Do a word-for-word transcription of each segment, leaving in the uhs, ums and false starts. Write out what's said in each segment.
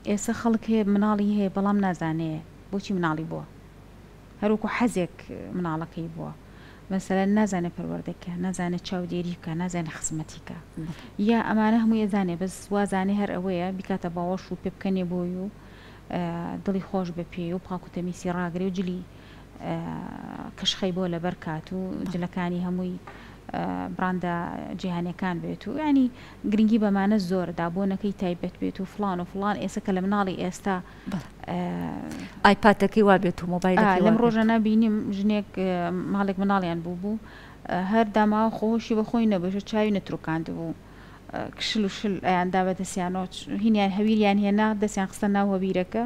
ئێستا خەڵک هەیە مناڵی هەیە بەڵام نازانێ بۆچی مناڵی بووە، هەروەکو حەزێک مناڵەکەی بووە، مەسەلەن نازانێ پەروەردەکە، نازانێ چاودێری بکە، نازانێ خزمەتی کە، یا ئەمانە هەمووی ئەزانێ بەس وازانێ هەر ئەوەیە بیکاتە باوەش و پێ بکەنێ بۆی و دڵی خۆش بە پێی و پاک و تەمیسی ڕاگرێ و جلی کەشخەی بۆ لەبەر کات و جلەکانی هەمووی براندە جیهانیەکان بێت و ینی گرنگی بەمانە زۆر دابۆنەکەی تایبەت بێت و فلان و فلان. ئێستا کە لە مناڵی ئێستا ئایپادەکەی وا بێت و مۆبایلەکەی لەم ڕۆژانە بینیم ژنێک ماڵێک مناڵیان بوو بوو هەر داماوە خۆشی بە خۆی نەبێت، چاوی نەترکاند بوو، کشل و شل ئەیاندا بە دەستیانەوە، هینیان هەویریان هێنا دەستیان خستە ناو هەویرەکە،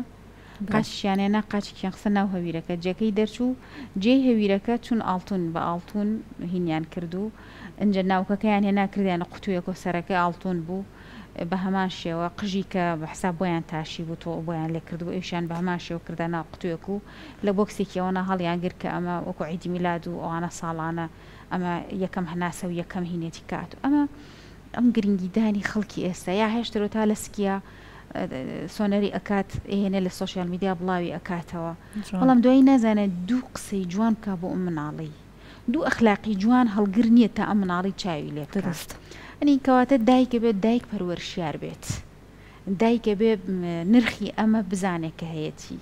قاچیان هێنا قاچێکیان خستە ناو هەویرەکە، جێەکەی دەرچوو جێی هەویرەکە چون ئاڵتون بە ئاڵتون هینیان کردو، ئەنجە ناوکەکەیان هێنا کردیانە قوتوویەکۆ سەرەکەی ئاڵتون بوو، بە هەمان شێوە قژی کە بە حساب بۆیان تاشی بوو تۆ بۆیان لێ کردبوو، ئەویشیان بە هەمان شێوە کردە ناو قوتوویەک و لە بۆکسێکی ئەوەنا هەڵیان گرت کە ئەمە وەکو عیدی میلاد و ئەوانە ساڵانە ئەمە یەکەم هەناسە و یەکەم هینێتی کات و ئەمە ئەم گرنگیدانی خەڵکی ئێستا یا هێشترەوە تا لە سکیە سۆنەری ئەکات ئێنێ لە سۆشیال میدیا بڵاوی ئەکاتەوە، بەڵام دوایی نازانێت دوو قسەی جوان بکە بۆ ئەم مناڵی، دوو ئەخلاقی جوان هەڵگر نییە تا ئەم مناڵی چاوی لێ بکات. ئەنی کەواتە دایکە بێت دایک پەروەرشیار بێت، دایکە بێ نرخی ئەمە بزانێت کە هەیەتی،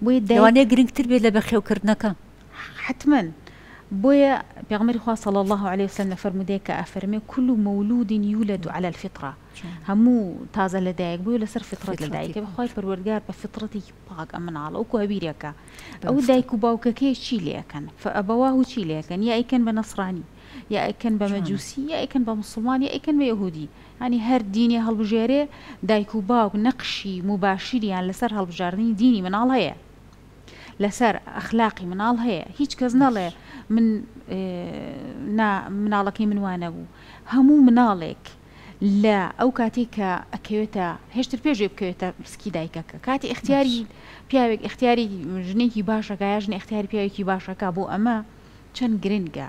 بۆیە لەوانەیە گرنگتر بێت لە بەخێوکردنەکە. حتما. بۆیە پێغەمبەری خوا صلی الله علیه وسلم لە فەرموودەیە کە ئەفەرمێ كل مولود يولد على الفطرة، هەموو تازە لەدایک بووە لەسەر فطرەت لەدایکە، بەخوای پەروەردگار بە فطرەتێکی پاک ئەم مناڵە وەکو هەویرێکە. ئەو دایک و باوکەکەی چی لێەکەن؟ فەئەبەواه چی لێەکەن؟ یا ئەیکەن بە نەسرانی، یا ئەیکەن بە مەجوسی، یا ئەیکەن بە مسلمان، یا ئەیکەن بە یەهودی. ینی هەر دینێ هەڵبژێرێ دایک و باوک نەقشی مباشریان لەسەر هەڵبژاردنی دینی مناڵ هەیە، لەسەر ئەخلاقی مناڵ هەیە. هیچ کەس نەڵێ من نا مناڵەکەی من وانە بوو. هەموو مناڵێک لە ئەو کاتێک کە ئەکەوێتە هێشتر پێشێ بکەوێتە سکی دایکەکە، کاتی اختیاری پیاوێک اختیاری ژنێکی باشەکە یا ژن اختیاری پیاوێکی باشەکە، بۆ ئەمە چەند گرنگە.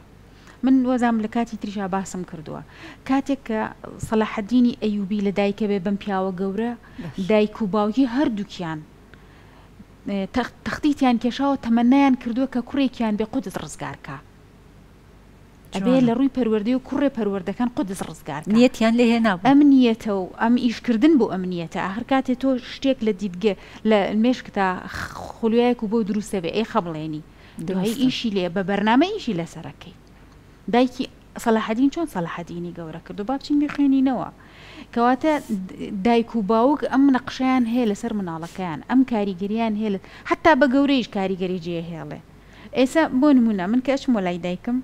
من وەزام لە کاتی تریشا باسم کردووە، کاتێک کە سەلاحەدینی ئەیوبی لە دایکە بێ بەم پیاوە گەورە، دایک و باوکی هەردووکیان تەختیتیان کێشاوە، تەمەنایان کردووە کە کوڕێکیان بێ قودس ڕزگارکە. ئەبێ لە ڕووی پەروەردەی و کوڕێ پەروەردەکان قودس ڕزگارکە. نیەتیان لێ هێنابوو. ئەم نیەتە و ئەم ئیشکردن بۆ ئەم نیەتە، ئاخر کاتێ تۆ شتێک لە دیدگە لە مێشکتا خولویایەک و بۆ دروستە بێ ئەی خەبڵێنی، دوایی ئیشی لێ بە بەرنامە ئیشی لەسەرەکەی. دایکی سەلاحەدین چۆن سەلاحەدینی گەورە کردو با بچین بیخوێنینەوە. کەواتە دایک و باوک ئەم نەقشەیان هەیە لەسەر مناڵەکەیان، ئەم کاریگەریان هەیە، حتا بە گەورەیش کاریگەری جێهێڵێ. ئێستا بۆ نمونە من کە ئەچم وەلای دایکم،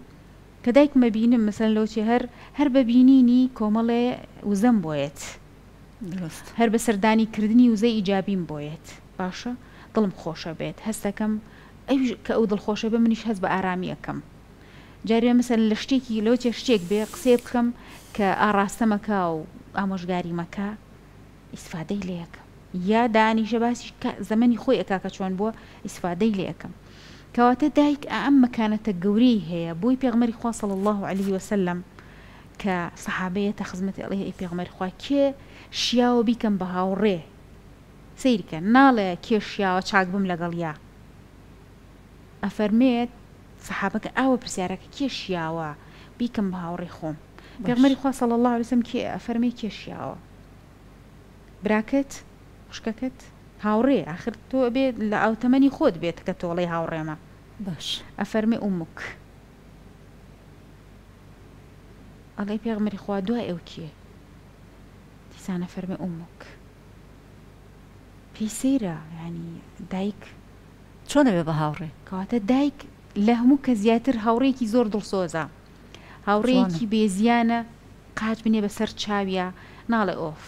کە دایکم ببینم مەسەلەن لەوچێ هەر هەر بەبینینی کۆمەڵێ وزەم بۆیەت، هەر بە سەردانیکردنی وزەی ئیجابیم بۆیەت، باشە دڵم خۆشە بێت، هەستەکەم ئەویش کە ئەو دڵخۆشە بێ منیش هەست بە ئارامی ئەەکەم. جارێ مەسەلەن لە شتێکی لەوچێ شتێک بێ قسەیە بکەم کە ئاراستەمەکە و ئامۆژگاری مەکە، ئیسفادەی لێ ئەەکەم، یا دانیشە باسی زەمەنی خۆی ئەکا کە چۆن بووە ئیسفادەی لێ ئەەکەم. کەواتە دایک ئەم مەکانەتە گەورەی هەیە. بۆی پێغمەری خوا صلی الله علیه وسلم کە سەحابەیەتە خزمەتی ئەڵێ ئەی پێغمەری خوا کێ شیاوە بیکەم بە هاوڕێ، سەیرکە ناڵێ کێ شیاوە چاک بم لەگەڵ یا، ئەفەرمێت سەحابەکە ئاوە پرسیارەکە کێ شیاوە بیکەم بە هاوڕێ خۆم. پێغمەری خوا صلی الله علیه وسلم کێ ئەفەرمێ کێ شیاوە؟ براکەت، خوشکەکەت، هاوڕێ. آخر تۆ بێ لە ئاوتەمەنی خۆت بێت کە تۆڵەی هاوڕێمە. باش. ئەفەرمێ ئومک. ئەڵێ پێغمەری خوا دوای ئەو کێ؟ دیسان ئەفەرمێ ئومک. پێی سەیرە، یعنی دایک چۆنە بێ بە هاوڕێ؟ کەواتە دایک لە هەموو کە زیاتر هاوڕێکی زۆر دڵسۆزە، هاوڕێیەکی بێزیانە، قاچ بنێ بەسەر چاویە، ناڵێ ئۆف.